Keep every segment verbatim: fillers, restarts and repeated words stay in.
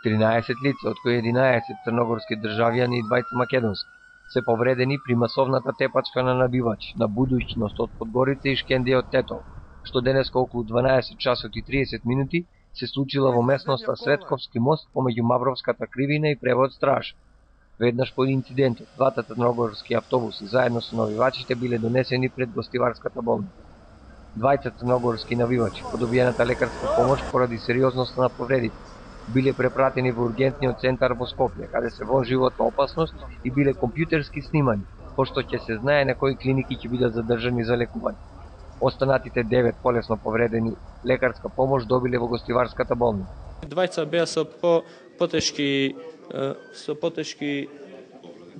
тринаесет лица, од кои единаесет црногорски државјани и двајца македонски, се повредени при масовната тепачка на набивачи на будуćност од Подгорица и Шкендија од Тетово, што денеска околу дванаесет часот и триесет минути се случила во местноста Светковски мост помеѓу Мавровската кривина и Превод Страж. Веднаш по инцидентот, двата црногорски автобуси заедно со навивачите биле донесени пред гостиварската болница. Двајца црногорски навивачи по добиената лекарска помош поради сериозноста на повредите биле препратени во ургентниот центар во Скопје, каде се во животна опасност и биле компјутерски снимани, пошто ќе се знае на кои клиники ќе бидат задржани за лекување. Останатите девет полесно повредени лекарска помош добиле во гостиварската болница. Двајца беа со по потешки со потешки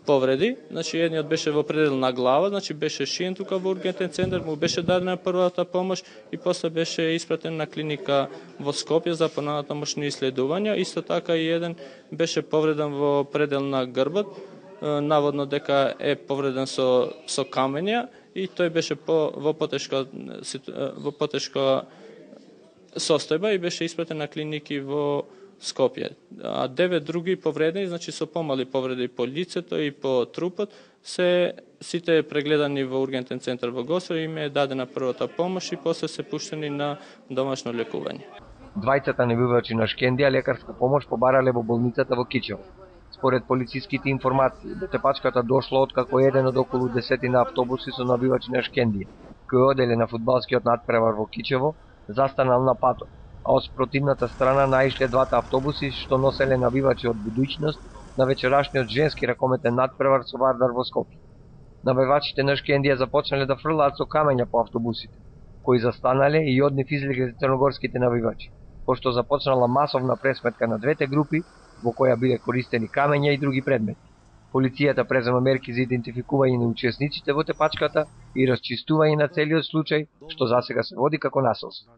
повреди, значи едниот беше во предел на глава, значи беше шиен тука во ургентен центар, му беше дадена првата помош и после беше испратен на клиника во Скопје за понатамошни исследувања. Исто така и еден беше повреден во предел на грбот, наводно дека е повреден со со камења и тој беше по во потешка во потешка состојба и беше испратен на клиники во Скопје. А девет други повредени, значи со помали повреди по лицето и по трупот, се сите прегледани во ургентен центар во Госвар и им е дадена првата помош и после се пуштени на домашно лекување. Двајцата набивачи на Шкендија лекарска помош побарале во болницата во Кичево. Според полициските информации, до тепачката дошло откако еден од околу десетина автобуси со набивачи на Шкендија, кој оделе на фудбалскиот натпревар во Кичево, застанал на патот, а од спротивната страна наишле двата автобуси што носеле набивачи од будуćност на вечерашниот женски ракометен натпревар со Вардар во Скопје. Набивачите на Шкендија започнале да фрлаат со камења по автобусите, кои застанале и од нив излегле црногорските набивачи, пошто започнала масовна пресметка на двете групи, во која биле користени камења и други предмети. Полицијата презема мерки за идентификување на учесниците во тепачката и расчистување на целиот случај, што засега се води како насилство.